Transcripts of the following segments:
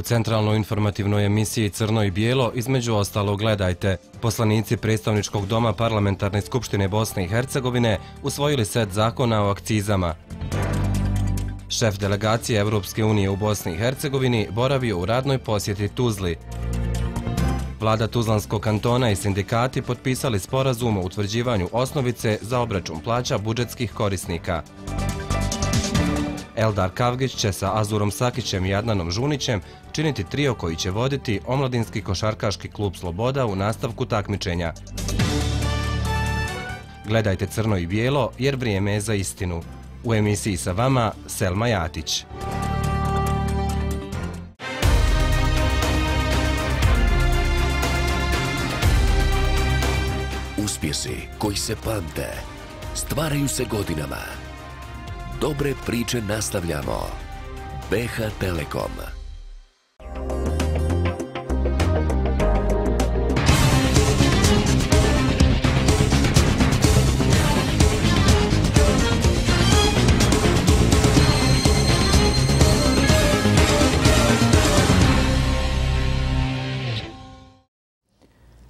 U centralnoj informativnoj emisiji Crno i bijelo između ostalog gledajte. Poslanici Predstavničkog doma Parlamentarne skupštine Bosne i Hercegovine usvojili set zakona o akcizama. Šef delegacije Evropske unije u Bosni i Hercegovini boravio u radnoj posjeti Tuzli. Vlada Tuzlanskog kantona i sindikati potpisali sporazum o utvrđivanju osnovice za obračun plaća budžetskih korisnika. Eldar Kavgić će sa Azurom Sakićem i Adnanom Žunićem činiti trio koji će voditi omladinski košarkaški klub Sloboda u nastavku takmičenja. Gledajte Crno i bijelo jer vrijeme je za istinu. U emisiji sa vama Selma Jatić. Uspjesi koji se pamte, stvaraju se godinama. Dobre priče nastavljamo. BH Telekom.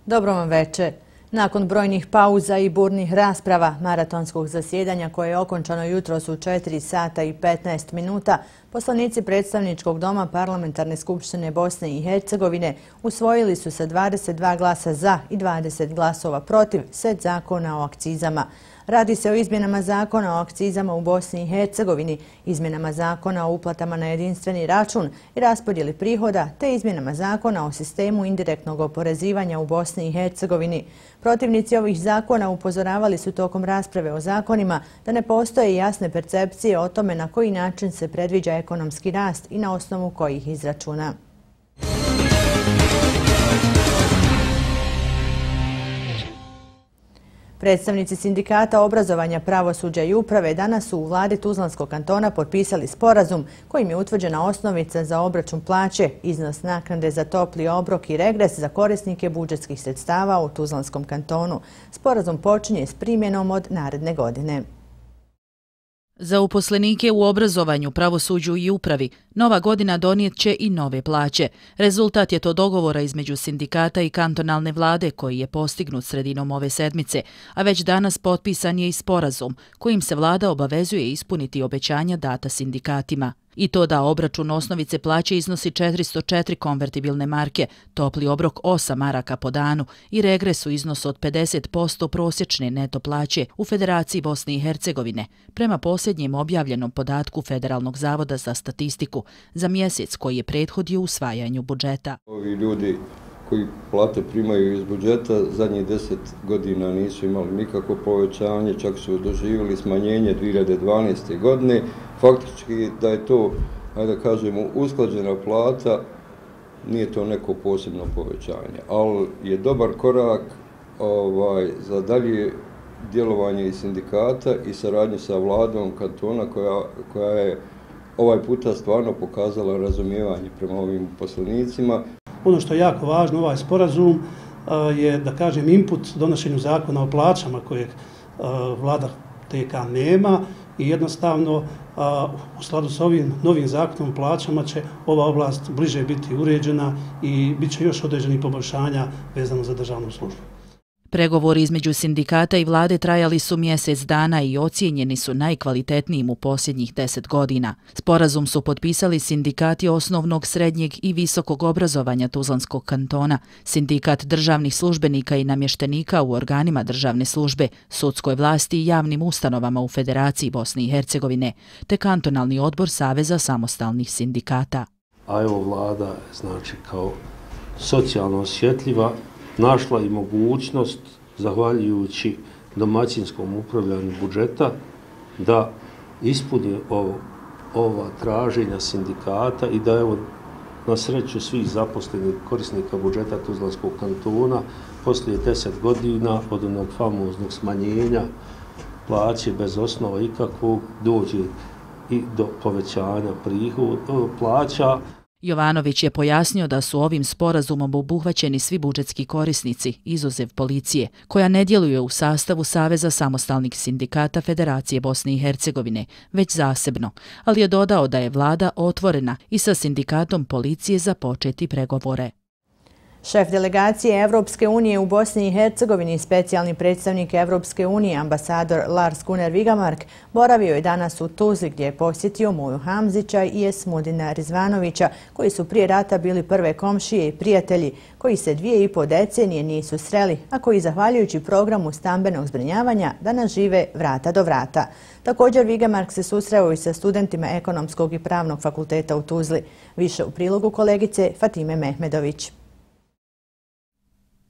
Dobro vam večer. Nakon brojnih pauza i burnih rasprava maratonskog zasjedanja koje je okončano jutros u 4 sata i 15 minuta, poslanici Predstavničkog doma Parlamentarne skupštine Bosne i Hercegovine usvojili su sa 22 glasa za i 20 glasova protiv set zakona o akcizama. Radi se o izmjenama zakona o akcizama u Bosni i Hercegovini, izmjenama zakona o uplatama na jedinstveni račun i raspodjeli prihoda, te izmjenama zakona o sistemu indirektnog oporezivanja u Bosni i Hercegovini. Protivnici ovih zakona upozoravali su tokom rasprave o zakonima da ne postoje jasne percepcije o tome na koji način se predviđa ekonomski rast i na osnovu kojih izračuna. Predstavnici sindikata obrazovanja, pravosuđa i uprave danas su u vladi Tuzlanskog kantona potpisali sporazum kojim je utvrđena osnovica za obračun plaće, iznos naknade za topli obrok i regres za korisnike budžetskih sredstava u Tuzlanskom kantonu. Sporazum počinje s primjenom od naredne godine. Za uposlenike u obrazovanju, pravosuđu i upravi nova godina donijet će i nove plaće. Rezultat je to dogovora između sindikata i kantonalne vlade koji je postignut sredinom ove sedmice, a već danas potpisan je i sporazum kojim se vlada obavezuje ispuniti obećanja data sindikatima. I to da obračun osnovice plaće iznosi 404 konvertibilne marke, topli obrok 8 maraka po danu i regres u iznosu od 50% prosječne neto plaće u Federaciji Bosne i Hercegovine, prema posljednjem objavljenom podatku Federalnog zavoda za statistiku za mjesec koji je prethodio usvajanju budžeta. Ovi ljudi koji plate primaju iz budžeta zadnjih 10 godina nisu imali nikakvo povećanje, čak su doživjeli smanjenje 2012. godine. Faktički da je to, ajde da kažemo, usklađena plata, nije to neko posebno povećanje, ali je dobar korak za dalje djelovanje i sindikata i saradnje sa vladom kantona koja je ovaj puta stvarno pokazala razumijevanje prema ovim poslanicima. Ono što je jako važno, ovaj sporazum je, da kažem, input donošenju zakona o plaćama kojeg vlada TK nema i jednostavno u skladu s ovim novim zakonom o plaćama će ova oblast bliže biti uređena i bit će još određenih poboljšanja vezano za državnu službu. Pregovori između sindikata i vlade trajali su mjesec dana i ocijenjeni su najkvalitetnijim u posljednjih 10 godina. Sporazum su potpisali sindikati osnovnog, srednjeg i visokog obrazovanja Tuzlanskog kantona, sindikat državnih službenika i namještenika u organima državne službe, sudskoj vlasti i javnim ustanovama u Federaciji Bosne i Hercegovine, te kantonalni odbor Saveza samostalnih sindikata. A evo vlada, znači kao socijalno osjetljiva, našla i mogućnost, zahvaljujući domaćinskom upravljanju budžeta, da ispuni ova traženja sindikata i da evo na sreću svih zaposlenih korisnika budžeta Tuzlanskog kantona poslije 10 godina od onog famoznog smanjenja plaće bez osnova ikakvog dođe i do povećanja plaća. Jovanović je pojasnio da su ovim sporazumom obuhvaćeni svi budžetski korisnici, izuzev policije, koja ne djeluje u sastavu Saveza samostalnih sindikata Federacije Bosne i Hercegovine, već zasebno, ali je dodao da je vlada otvorena i sa sindikatom policije započeti pregovore. Šef delegacije Evropske unije u Bosni i Hercegovini, specijalni predstavnik Evropske unije, ambasador Lars Gunnar Vigamark, boravio je danas u Tuzli gdje je posjetio Muju Hamzića i Esmudina Rizvanovića, koji su prije rata bili prve komšije i prijatelji, koji se 2,5 decenije nisu sreli, a koji zahvaljujući programu stambenog zbrinjavanja danas žive vrata do vrata. Također Vigamark se susreo i sa studentima Ekonomskog i Pravnog fakulteta u Tuzli. Više u prilogu kolegice Fatime Mehmedović.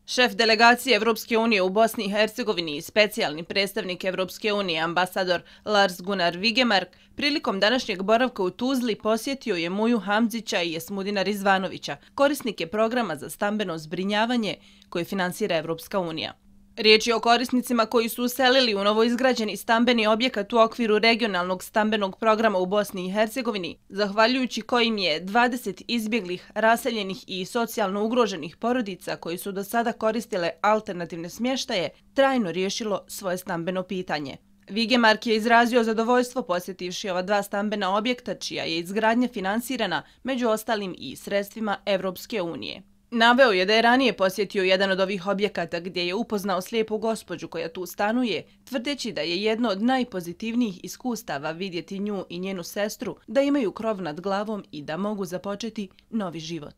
Šef delegacije Evropske unije u Bosni i Hercegovini i specijalni predstavnik Evropske unije, ambasador Lars Gunnar Vigemark, prilikom današnjeg boravka u Tuzli posjetio je Muju Hamzića i Esmudina Rizvanovića, korisnike programa za stambeno zbrinjavanje koje finansira Evropska unija. Riječ je o korisnicima koji su uselili u novoizgrađeni stambeni objekat u okviru regionalnog stambenog programa u Bosni i Hercegovini, zahvaljujući kojim je 20 izbjeglih, raseljenih i socijalno ugroženih porodica koji su do sada koristile alternativne smještaje, trajno riješilo svoje stambeno pitanje. Vigemark je izrazio zadovoljstvo posjetivši ova dva stambena objekta, čija je izgradnja finansirana među ostalim i sredstvima Evropske unije. Naveo je da je ranije posjetio jedan od ovih objekata gdje je upoznao slijepu gospođu koja tu stanuje, tvrdeći da je jedno od najpozitivnijih iskustava vidjeti nju i njenu sestru, da imaju krov nad glavom i da mogu započeti novi život.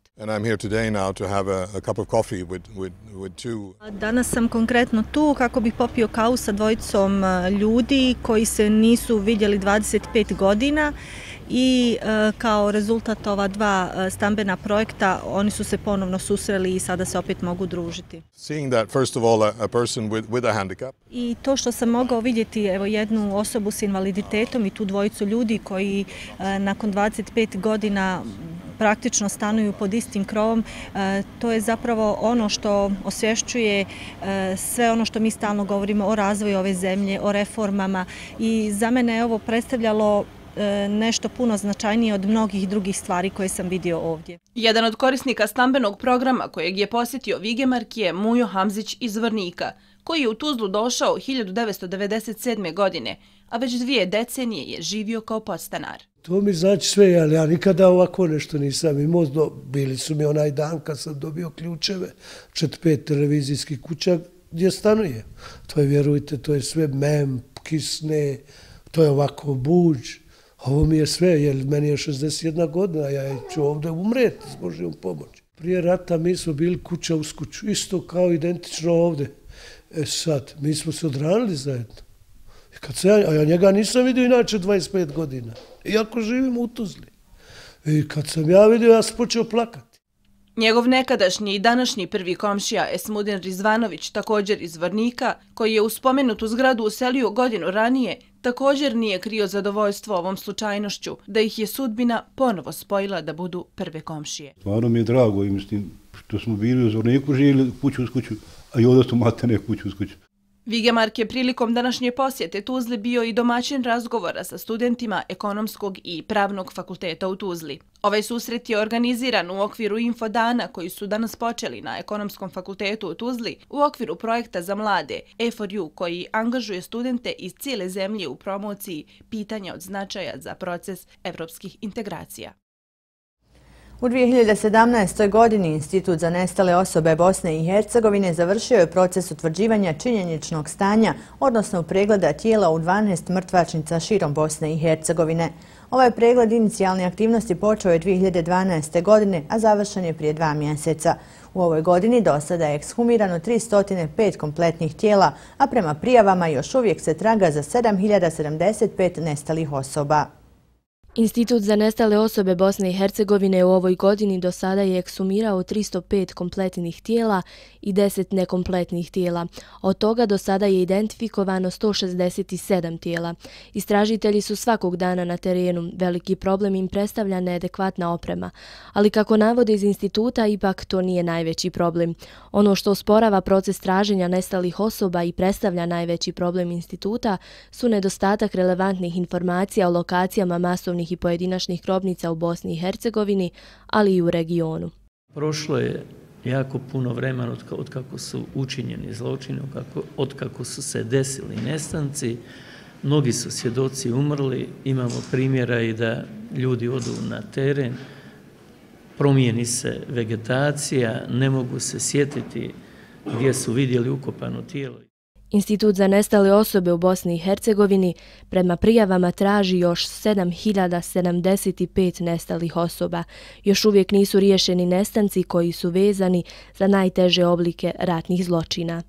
Danas sam konkretno tu kako bih popio kavu sa dvojicom ljudi koji se nisu vidjeli 25 godina. I kao rezultat ova dva stambena projekta oni su se ponovno susreli i sada se opet mogu družiti. I to što sam mogao vidjeti jednu osobu s invaliditetom i tu dvojicu ljudi koji nakon 25 godina praktično stanuju pod istim krovom, to je zapravo ono što osvješćuje sve ono što mi stalno govorimo o razvoju ove zemlje, o reformama i za mene je ovo predstavljalo nešto puno značajnije od mnogih drugih stvari koje sam vidio ovdje. Jedan od korisnika stambenog programa kojeg je posjetio Vigemark je Mujo Hamzić iz Zvornika, koji je u Tuzlu došao 1997. godine, a već 2 decenije je živio kao podstanar. To mi znači sve, ali ja nikada ovako nešto nisam imao. Bili su mi onaj dan kad sam dobio ključeve, 4-5 televizijskih kuća gdje stanuje. To je, vjerujte, to je sve mem, kisne, to je ovako buđ. Ovo mi je sve, jer meni je 61 godina, ja ću ovdje umreti s Božjom pomoći. Prije rata mi smo bili kuća uz kuću, isto kao identično ovdje. Sad, mi smo se odranili zajedno. A ja njega nisam vidio inače 25 godina, iako živim u Tuzli. I kad sam ja vidio, ja sam počeo plakati. Njegov nekadašnji i današnji prvi komšija Esmudin Rizvanović, također iz Zvornika, koji je u spomenutu zgradu uselio godinu ranije, također nije krio zadovoljstvo ovom slučajnošću, da ih je sudbina ponovo spojila da budu prve komšije. Stvarno mi je drago, mislim, što smo bili u Zvorniku, živjeli kuću uz kuću, a i ovdje su matene kuću uz kuću. Vigemark je prilikom današnje posjete Tuzli bio i domaćin razgovora sa studentima Ekonomskog i Pravnog fakulteta u Tuzli. Ovaj susret je organiziran u okviru infodana koji su danas počeli na Ekonomskom fakultetu u Tuzli u okviru projekta za mlade E4U koji angažuje studente iz cijele zemlje u promociji pitanja od značaja za proces evropskih integracija. U 2017. godini Institut za nestale osobe Bosne i Hercegovine završio je proces utvrđivanja činjeničnog stanja, odnosno pregleda tijela u 12 mrtvačnica širom Bosne i Hercegovine. Ovaj pregled inicijalne aktivnosti počeo je 2012. godine, a završen je prije 2 mjeseca. U ovoj godini do sada je ekshumirano 305 kompletnih tijela, a prema prijavama još uvijek se traga za 7075 nestalih osoba. Institut za nestale osobe Bosne i Hercegovine u ovoj godini do sada je ekshumirao 305 kompletnih tijela i 10 nekompletnih tijela. Od toga do sada je identifikovano 167 tijela. Istražitelji su svakog dana na terenu. Veliki problem im predstavlja neadekvatna oprema. Ali kako navode iz instituta, ipak to nije najveći problem. Ono što osporava proces traženja nestalih osoba i predstavlja najveći problem instituta su nedostatak relevantnih informacija o lokacijama masovnih i pojedinačnih grobnica u Bosni i Hercegovini, ali i u regionu. Prošlo je jako puno vremena od kako su učinjeni zločini, od kako su se desili nestanci. Mnogi su svjedoci umrli, imamo primjera i da ljudi odu na teren, promijeni se vegetacija, ne mogu se sjetiti gdje su vidjeli ukopano tijelo. Institut za nestale osobe u Bosni i Hercegovini prema prijavama traži još 7075 nestalih osoba. Još uvijek nisu riješeni nestanci koji su vezani za najteže oblike ratnih zločina.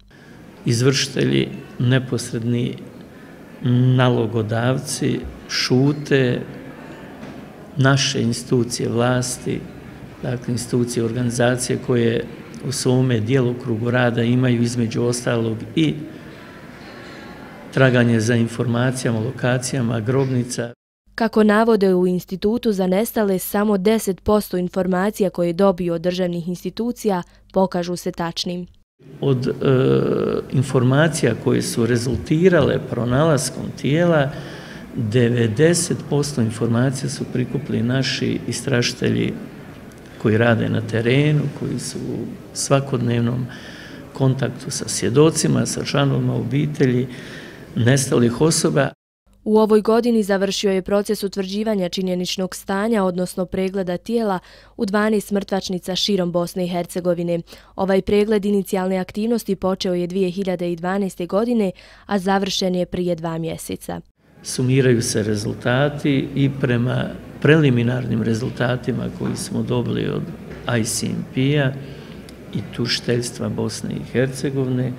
Izvršitelji, neposredni nalogodavci šute, naše institucije vlasti, dakle institucije organizacije koje u svome djelokrugu rada imaju između ostalog i traganje za informacijama, lokacijama, grobnica. Kako navode u Institutu za nestale, samo 10% informacija koje dobiju od državnih institucija pokažu se tačnim. Od informacija koje su rezultirale pronalaskom tijela, 90% informacija su prikupili naši istražitelji koji rade na terenu, koji su u svakodnevnom kontaktu sa svjedocima, sa članovima obitelji nestalih osoba. U ovoj godini završio je proces utvrđivanja činjeničnog stanja, odnosno pregleda tijela u 12 mrtvačnica širom Bosne i Hercegovine. Ovaj pregled inicijalne aktivnosti počeo je 2012. godine, a završen je prije 2 mjeseca. Sumiraju se rezultati i prema preliminarnim rezultatima koji smo dobili od ICMP-a i tužiteljstva Bosne i Hercegovine,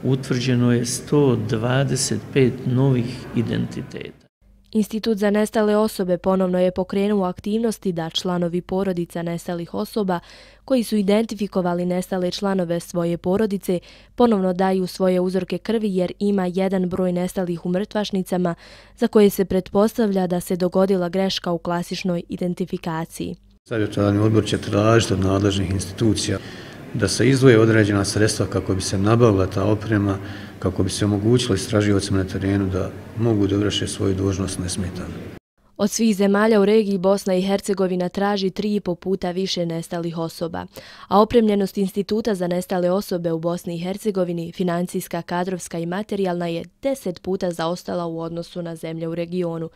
utvrđeno je 125 novih identiteta. Institut za nestale osobe ponovno je pokrenuo aktivnosti da članovi porodica nestalih osoba koji su identifikovali nestale članove svoje porodice ponovno daju svoje uzorke krvi jer ima jedan broj nestalih u mrtvačnicama za koje se pretpostavlja da se dogodila greška u klasičnoj identifikaciji. Savjetodavni odbor će tražiti od nadležnih institucija da se izdvoje određena sredstva kako bi se nabavila ta oprema, kako bi se omogućilo istraživaocima na terenu da mogu da vrše svoju dužnost nesmetano. Od svih zemalja u regiji Bosna i Hercegovina traži 3,5 puta više nestalih osoba, a opremljenost Instituta za nestale osobe u Bosni i Hercegovini, financijska, kadrovska i materijalna, je 10 puta zaostala u odnosu na zemlje u regionu.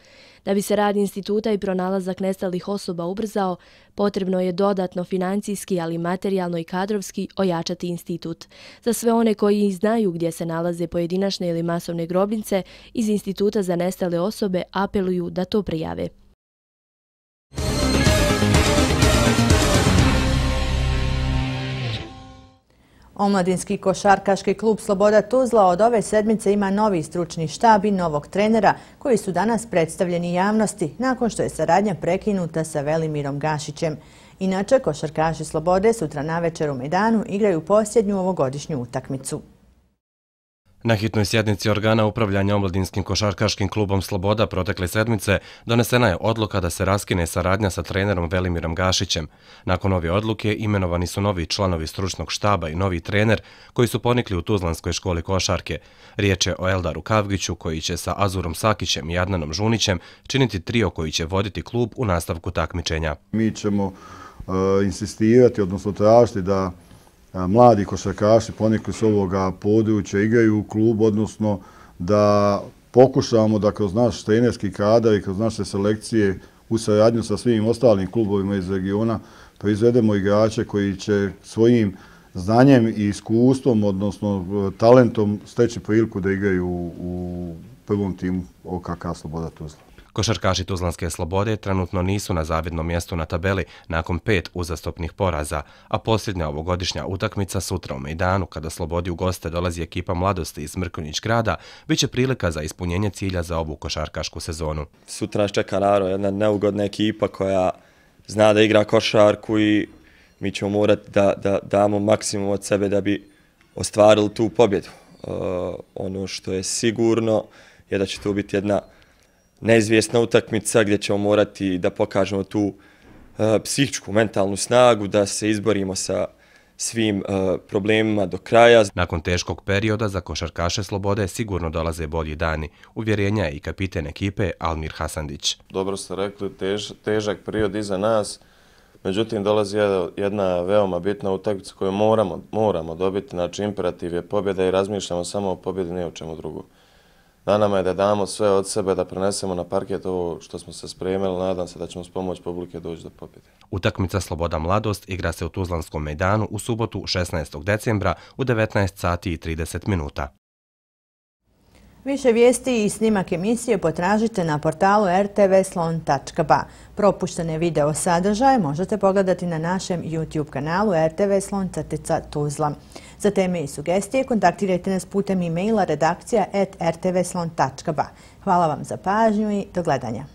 Da bi se rad instituta i pronalazak nestalih osoba ubrzao, potrebno je dodatno financijski, ali materijalno i kadrovski ojačati institut. Za sve one koji znaju gdje se nalaze pojedinačne ili masovne grobnice, iz Instituta za nestale osobe apeluju da to prijave. Omladinski košarkaški klub Sloboda Tuzla od ove sedmice ima novi stručni štab i novog trenera koji su danas predstavljeni javnosti nakon što je saradnja prekinuta sa Velimirom Gašićem. Inače, košarkaši Slobode sutra navečer u Mejdanu igraju posljednju ovogodišnju utakmicu. Na hitnoj sjednici organa upravljanja Omladinskim košarkaškim klubom Sloboda protekle sedmice donesena je odluka da se raskine saradnja sa trenerom Velimirom Gašićem. Nakon ove odluke imenovani su novi članovi stručnog štaba i novi trener koji su ponikli u Tuzlanskoj školi košarke. Riječ je o Eldaru Kavgiću koji će sa Azurom Sakićem i Adnanom Žunićem činiti trio koji će voditi klub u nastavku takmičenja. Mi ćemo insistirati, odnosno tražiti da mladi košarkaši ponekli s ovoga područja igraju u klubu, odnosno da pokušamo da kroz naš trenerski kadar i kroz naše selekcije u saradnju sa svim ostalim klubovima iz regiona proizvedemo igrače koji će svojim znanjem i iskustvom, odnosno talentom steći priliku da igraju u prvom timu OKK Sloboda Tuzla. Košarkaši Tuzlanske Slobode trenutno nisu na zavidnom mjestu na tabeli nakon 5 uzastopnih poraza, a posljednja ovogodišnja utakmica sutra u Mejdanu, kada Slobodi u goste dolazi ekipa Mladosti iz Mrkonjić grada, bit će prilika za ispunjenje cilja za ovu košarkašku sezonu. Sutra nas čeka naravno jedna neugodna ekipa koja zna da igra košarku i mi ćemo morati da damo maksimum od sebe da bi ostvarili tu pobjedu. Ono što je sigurno je da će to biti jedna neizvjesna utakmica gdje ćemo morati da pokažemo tu psihičku, mentalnu snagu, da se izborimo sa svim problemima do kraja. Nakon teškog perioda za košarkaše Slobode sigurno dolaze bolji dani. Uvjerenja je i kapiten ekipe Almir Hasandić. Dobro ste rekli, težak period iza nas, međutim dolazi jedna veoma bitna utakmica koju moramo dobiti. Znači imperativ je pobjeda i razmišljamo samo o pobjedi, ne o čemu drugo. Na nama je da damo sve od sebe, da prenesemo na parket ovo što smo se spremili. Nadam se da ćemo s pomoć publike doći do pobjede. Utakmica Sloboda Mladost igra se u Tuzlanskom mejdanu u subotu 16. decembra u 19 sati i 30 minuta. Više vijesti i snimak emisije potražite na portalu rtvslon.ba. Propuštene video sadržaje možete pogledati na našem YouTube kanalu rtvslon.tuzla. Za teme i sugestije kontaktirajte nas putem e-maila redakcija@rtvslon.ba. Hvala vam za pažnju i do gledanja.